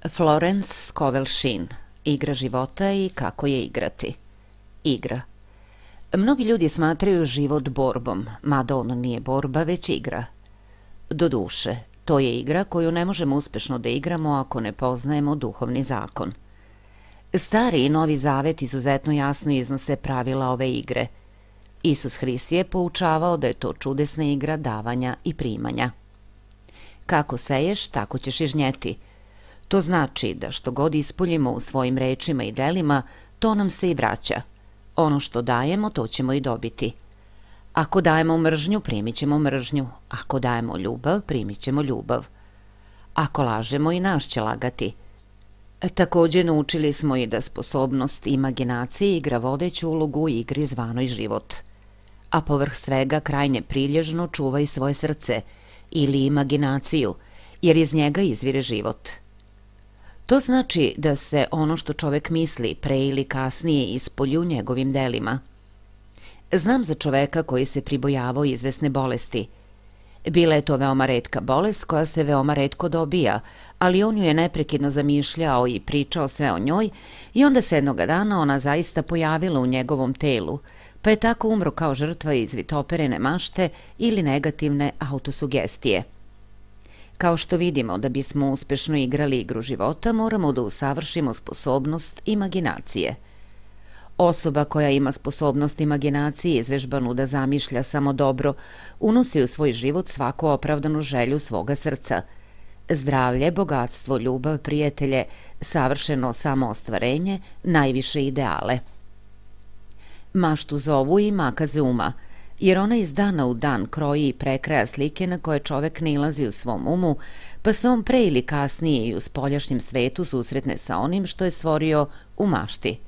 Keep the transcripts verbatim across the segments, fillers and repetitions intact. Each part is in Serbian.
Florence Scovel Shinn. Igra života i kako je igrati. Igra. Mnogi ljudi smatraju život borbom, mada ono nije borba, već igra. Doduše, to je igra koju ne možemo uspešno da igramo ako ne poznajemo duhovni zakon. Stari i Novi Zavet izuzetno jasno iznose pravila ove igre. Isus Hrist je poučavao da je to čudesna igra davanja i primanja. Kako seješ, tako ćeš i žnjeti. To znači da što god ispoljimo u svojim rečima i delima, to nam se i vraća. Ono što dajemo, to ćemo i dobiti. Ako dajemo mržnju, primit ćemo mržnju. Ako dajemo ljubav, primit ćemo ljubav. Ako lažemo, i nas će lagati. Takođe naučili smo i da sposobnost imaginacije igra vodeću ulogu u igri zvanoj život. A povrh svega krajnje prilježno čuvaj svoje srce ili imaginaciju, jer iz njega izvire život. To znači da se ono što čovek misli pre ili kasnije ispolju njegovim delima. Znam za čoveka koji se pribojavao izvesne bolesti. Bila je to veoma retka bolest koja se veoma retko dobija, ali on ju je neprekidno zamišljao i pričao sve o njoj i onda se jednoga dana ona zaista pojavila u njegovom telu, pa je tako umro kao žrtva iz vitoperene mašte ili negativne autosugestije. Kao što vidimo, da bismo uspešno igrali igru života, moramo da usavršimo sposobnost imaginacije. Osoba koja ima sposobnost imaginacije izvežbanu da zamišlja samo dobro, unosi u svoj život svaku opravdanu želju svoga srca. Zdravlje, bogatstvo, ljubav, prijatelje, savršeno samoostvarenje, najviše ideale. Maštu zovu i makaze uma, jer ona iz dana u dan kroji i prekraja slike na koje čovek nailazi u svom umu, pa se on pre ili kasnije i u spoljašnjem svetu susretne sa onim što je stvorio u mašti.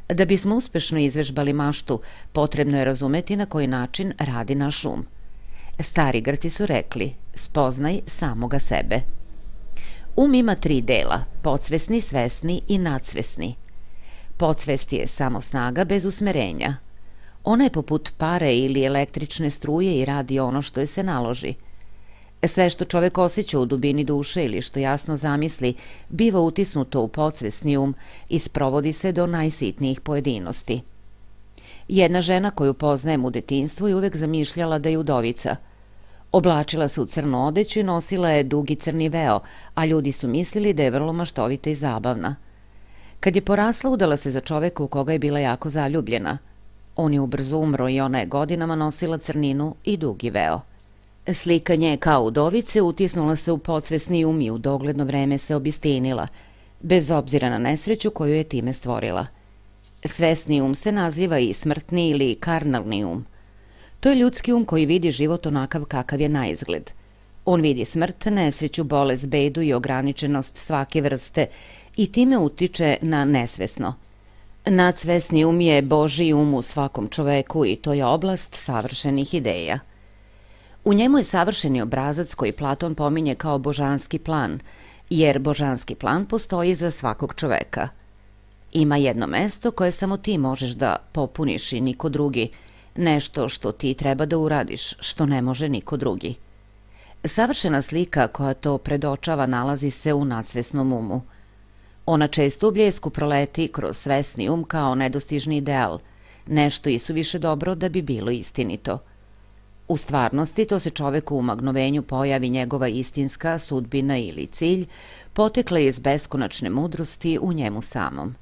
Da bismo uspešno izvežbali maštu, potrebno je razumeti na koji način radi naš um. Stari Grci su rekli, spoznaj samoga sebe. Um ima tri dela, podsvesni, svesni i nadsvesni. Podsvest je samo snaga bez usmerenja. Ona je poput pare ili električne struje i radi ono što je se naloži. Sve što čovek osjeća u dubini duše ili što jasno zamisli, biva utisnuto u podsvesni um i sprovodi se do najsitnijih pojedinosti. Jedna žena koju poznajem u detinjstvu je uvek zamišljala da je udovica. Oblačila se u crnu odeću i nosila je dugi crni veo, a ljudi su mislili da je vrlo maštovita i zabavna. Kad je porasla, udala se za čoveka u koga je bila jako zaljubljena. On je ubrzo umro i ona je godinama nosila crninu i dugi veo. Slika nje kao udovice utisnula se u podsvesni um i u dogledno vreme se obistinila, bez obzira na nesreću koju je time stvorila. Svesni um se naziva i smrtni ili karnalni um. To je ljudski um koji vidi život onakav kakav je naizgled. On vidi smrt, nesreću, bolest, bedu i ograničenost svake vrste i time utiče na nesvesno. Nadsvesni um je Božji um u svakom čoveku i to je oblast savršenih ideja. U njemu je savršeni obrazac koji Platon pominje kao božanski plan, jer božanski plan postoji za svakog čoveka. Ima jedno mesto koje samo ti možeš da popuniš i niko drugi, nešto što ti treba da uradiš, što ne može niko drugi. Savršena slika koja to predočava nalazi se u nadsvesnom umu. Ona često u bljesku proleti kroz svesni um kao nedostižni ideal, nešto isuviše dobro da bi bilo istinito. U stvarnosti to se čoveku u magnovenju pojavi njegova istinska sudbina ili cilj, potekla iz beskonačne mudrosti u njemu samom.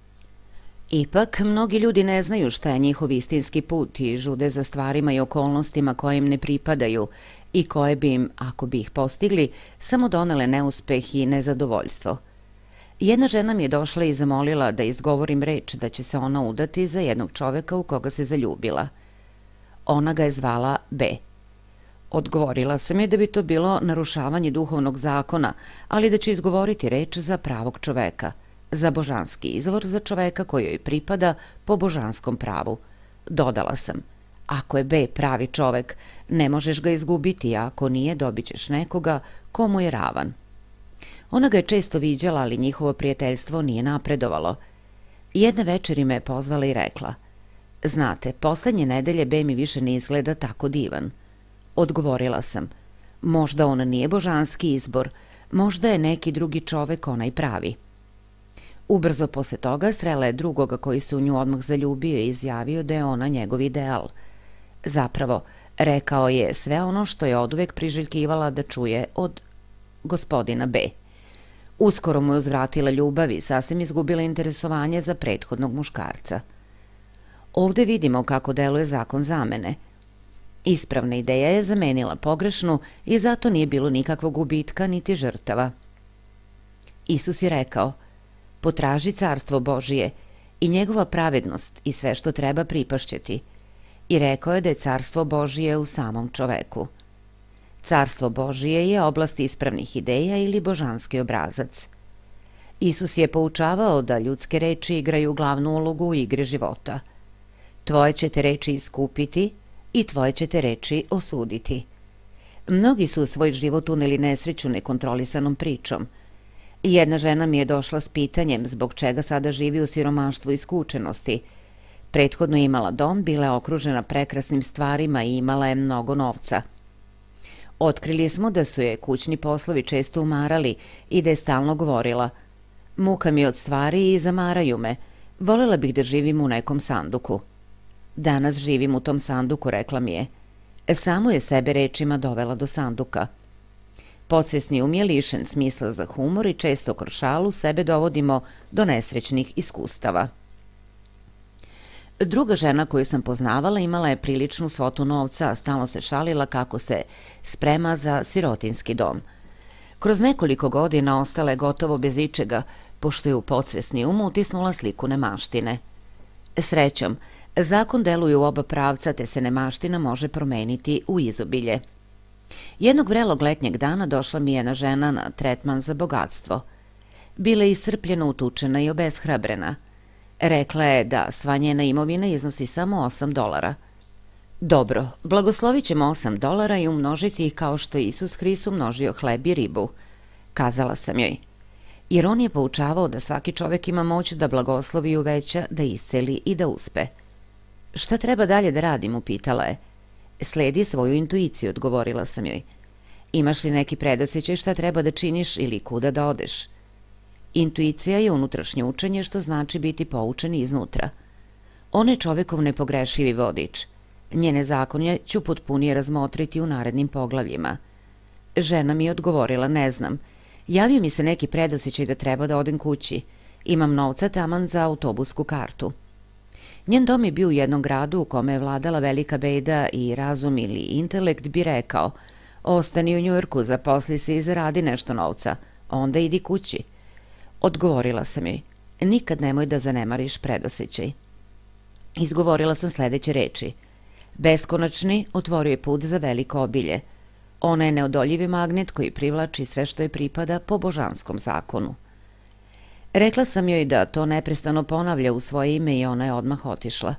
Ipak, mnogi ljudi ne znaju šta je njihov istinski put i žude za stvarima i okolnostima koje im ne pripadaju i koje bi im, ako bi ih postigli, samo donele neuspeh i nezadovoljstvo. Jedna žena mi je došla i zamolila da izgovorim reč da će se ona udati za jednog čoveka u koga se zaljubila. Ona ga je zvala B. Odgovorila sam je da bi to bilo narušavanje duhovnog zakona, ali da će izgovoriti reč za pravog čoveka, za božanski izvor, za čoveka koji joj pripada po božanskom pravu. Dodala sam, ako je B pravi čovek, ne možeš ga izgubiti, a ako nije, dobit ćeš nekoga komu je ravan. Ona ga je često viđala, ali njihovo prijateljstvo nije napredovalo. Jedne večeri me je pozvala i rekla, znate, poslednje nedelje B mi više ne izgleda tako divan. Odgovorila sam, možda on nije božanski izbor, Možda je neki drugi čovek onaj pravi. Ubrzo posle toga srela je drugoga koji se u nju odmah zaljubio i izjavio da je ona njegov ideal. Zapravo, rekao je sve ono što je oduvek priželjkivala da čuje od gospodina B. Uskoro mu je uzvratila ljubav i sasvim izgubila interesovanje za prethodnog muškarca. Ovde vidimo kako deluje zakon zamene. Ispravna ideja je zamenila pogrešnu i zato nije bilo nikakvog gubitka niti žrtava. Isus je rekao: potraži carstvo Božije i njegova pravednost i sve što treba pripašće ti. I rekao je da je carstvo Božije u samom čoveku. Carstvo Božije je oblast ispravnih ideja ili božanski obrazac. Isus je poučavao da ljudske reči igraju glavnu ulogu u igri života. Tvoje ćete reči iskupiti i tvoje ćete reči osuditi. Mnogi su u svoj život uneli nesreću nekontrolisanom pričom. Jedna žena mi je došla s pitanjem zbog čega sada živi u siromaštvu i skučenosti. Prethodno je imala dom, bila je okružena prekrasnim stvarima i imala je mnogo novca. Otkrili smo da su je kućni poslovi često umarali i da je stalno govorila: muka mi od stvari i zamaraju me, volela bih da živim u nekom sanduku. Danas živim u tom sanduku, rekla mi je. Samo je sebe rečima dovela do sanduka. Podsvesni um je lišen smisla za humor i često kroz šalu sebe dovodimo do nesrećnih iskustava. Druga žena koju sam poznavala imala je priličnu svotu novca, a stalno se šalila kako se sprema za sirotinski dom. Kroz nekoliko godina ostala je gotovo bez ičega, pošto je u podsvesni um utisnula sliku nemaštine. Srećom, zakon deluje u oba pravca, te se nemaština može promeniti u izobilje. Jednog vrelog letnjeg dana došla mi jedna žena na tretman za bogatstvo. Bila je iscrpljena, utučena i obeshrabrena. Rekla je da sva njena imovina iznosi samo osam dolara. Dobro, blagoslovit ćemo osam dolara i umnožiti ih kao što je Isus Hrist umnožio hleb i ribu, kazala sam joj. Jer on je poučavao da svaki čovek ima moć da blagoslovi i uveća, da isceli i da uspe. Šta treba dalje da radim, upitala je. Sledi svoju intuiciju, odgovorila sam joj. Imaš li neki predosjećaj šta treba da činiš ili kuda da odeš? Intuicija je unutrašnje učenje, što znači biti poučen iznutra. Ona je čovekov nepogrešivi vodič. Njene zakonje ću potpunije razmotriti u narednim poglavljima. Žena mi je odgovorila: ne znam. Javio mi se neki predosjećaj da treba da odem kući. Imam novca taman za autobusku kartu. Njen dom je bio u jednom gradu u kome je vladala velika beda i razum ili intelekt bi rekao: ostani u Njujorku, zaposli se i zaradi nešto novca, onda idi kući. Odgovorila sam joj: nikad nemoj da zanemariš predosjećaj. Izgovorila sam sledeće reči: beskonačni otvorio je put za veliko obilje. Ona je neodoljivi magnet koji privlači sve što je pripada po božanskom zakonu. Rekla sam joj da to neprestano ponavlja u svoje ime i ona je odmah otišla.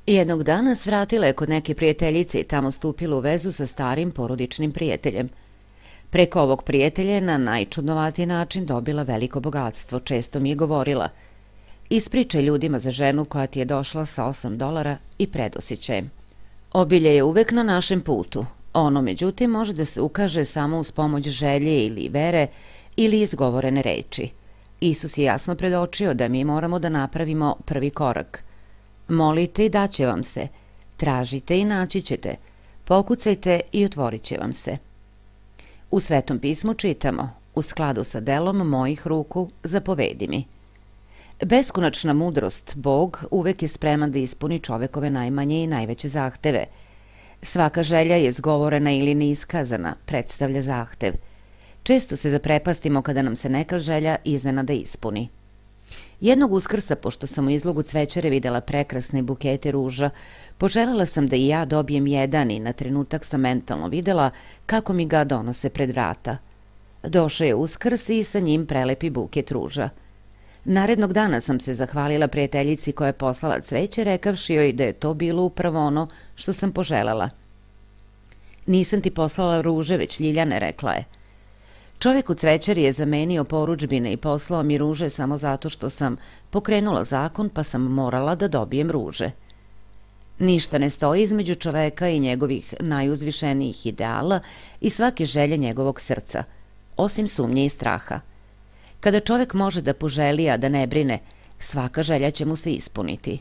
Jednog dana svratila je kod neke prijateljice i tamo stupila u vezu sa starim porodičnim prijateljem. Preko ovog prijatelja je na najčudnovatiji način dobila veliko bogatstvo. Često mi je govorila: ispričaj ljudima za ženu koja ti je došla sa osam dolara i predosjećajem. Obilje je uvek na našem putu. Ono, međutim, može da se ukaže samo uz pomoć želje ili vere ili izgovorene reči. Isus je jasno predočio da mi moramo da napravimo prvi korak. Molite i daće vam se, tražite i naći ćete, pokucajte i otvorit će vam se. U Svetom pismu čitamo: u skladu sa delom mojih ruku zapovedi mi. Beskonačna mudrost, Bog, uvek je spreman da ispuni čovekove najmanje i najveće zahteve. Svaka želja je izgovorena ili neiskazana, predstavlja zahtev. Često se zaprepastimo kada nam se neka želja iznenada ispuni. Jednog Uskrsa, pošto sam u izlogu cvećare videla prekrasne bukete ruža, poželjela sam da i ja dobijem jedan i na trenutak sam mentalno videla kako mi ga donose pred vrata. Došao je Uskrs i sa njim prelepi buket ruža. Narednog dana sam se zahvalila prijateljici koja je poslala cveće, rekavši joj da je to bilo upravo ono što sam poželjela. Nisam ti poslala ruže, već ljiljane, rekla je. Čovjek u cvećari je zamenio porudžbine i poslao mi ruže samo zato što sam pokrenula zakon, pa sam morala da dobijem ruže. Ništa ne stoji između čoveka i njegovih najuzvišenijih ideala i svake želje njegovog srca. osim sumnje i straha. Kada čovek može da poželi, a da ne brine, svaka želja će mu se ispuniti.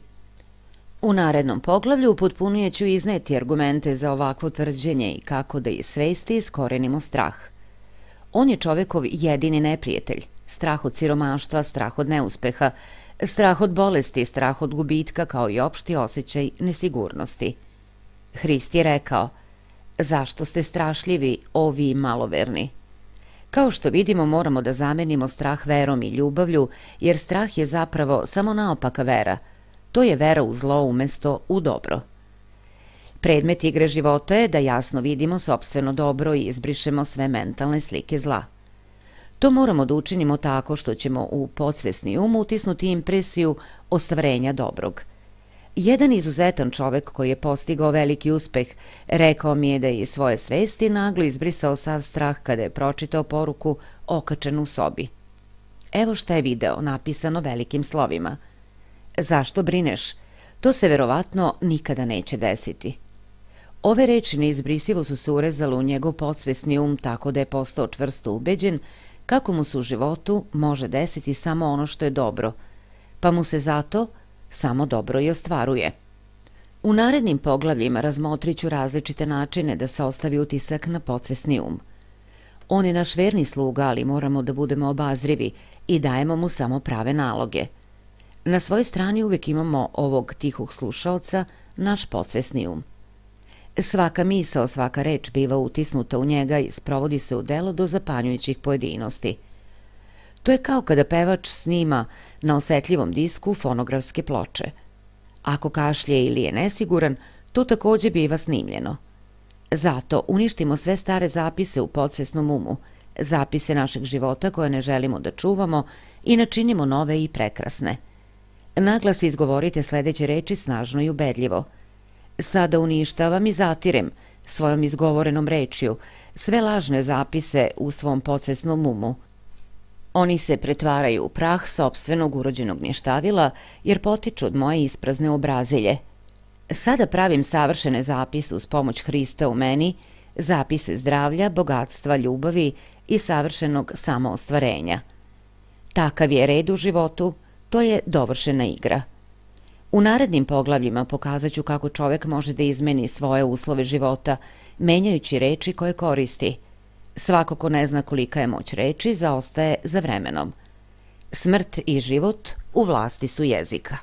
U narednom poglavlju upotpunije ću izneti argumente za ovakvo tvrđenje i kako da iz svesti iskorenimo strah. On je čovekov jedini neprijatelj, strah od siromaštva, strah od neuspeha, strah od bolesti, strah od gubitka, kao i opšti osjećaj nesigurnosti. Hrist je rekao: "Zašto ste strašljivi, o vi maloverni?" Kao što vidimo, moramo da zamenimo strah verom i ljubavlju, jer strah je zapravo samo naopaka vera. To je vera u zlo umesto u dobro. Predmet igre života je da jasno vidimo sopstveno dobro i izbrišemo sve mentalne slike zla. To moramo da učinimo tako što ćemo u podsvesni um utisnuti impresiju ostvarenja dobrog. Jedan izuzetan čovek koji je postigao veliki uspeh rekao mi je da je iz svoje svesti naglo izbrisao sav strah kada je pročitao poruku okačenu u sobi. Evo šta je video, napisano velikim slovima: "Zašto brineš? To se verovatno nikada neće desiti." Ove reči neizbrisivo su se urezale u njegov podsvesni um tako da je postao čvrsto ubeđen kako mu se u životu može desiti samo ono što je dobro, pa mu se zato samo dobro i ostvaruje. U narednim poglavljima razmotrit ću različite načine da se ostavi utisak na podsvesni um. On je naš verni sluga, ali moramo da budemo obazrivi i dajemo mu samo prave naloge. Na svojoj strani uvek imamo ovog tihog slušaoca, naš podsvesni um. Svaka misao, svaka reč biva utisnuta u njega i sprovodi se u delo do zapanjujućih pojedinosti. To je kao kada pevač snima na osetljivom disku fonografske ploče. Ako kašlje ili je nesiguran, to takođe biva snimljeno. Zato uništimo sve stare zapise u podsvesnom umu, zapise našeg života koje ne želimo da čuvamo i načinimo nove i prekrasne. Naglas izgovorite sledeće reči snažno i ubedljivo: "Sada uništavam i zatirem svojom izgovorenom rečju sve lažne zapise u svom podsvesnom umu. Oni se pretvaraju u prah sopstvenog urođenog ništavila, jer potiču od moje isprazne obrazilje. Sada pravim savršene zapise uz pomoć Hrista u meni, zapise zdravlja, bogatstva, ljubavi i savršenog samoostvarenja." Takav je red u životu, to je dovršena igra. U narednim poglavljima pokazat ću kako čovek može da izmeni svoje uslove života, menjajući reči koje koristi. Svako ko ne zna kolika je moć reči, zaostaje za vremenom. Smrt i život u vlasti su jezika.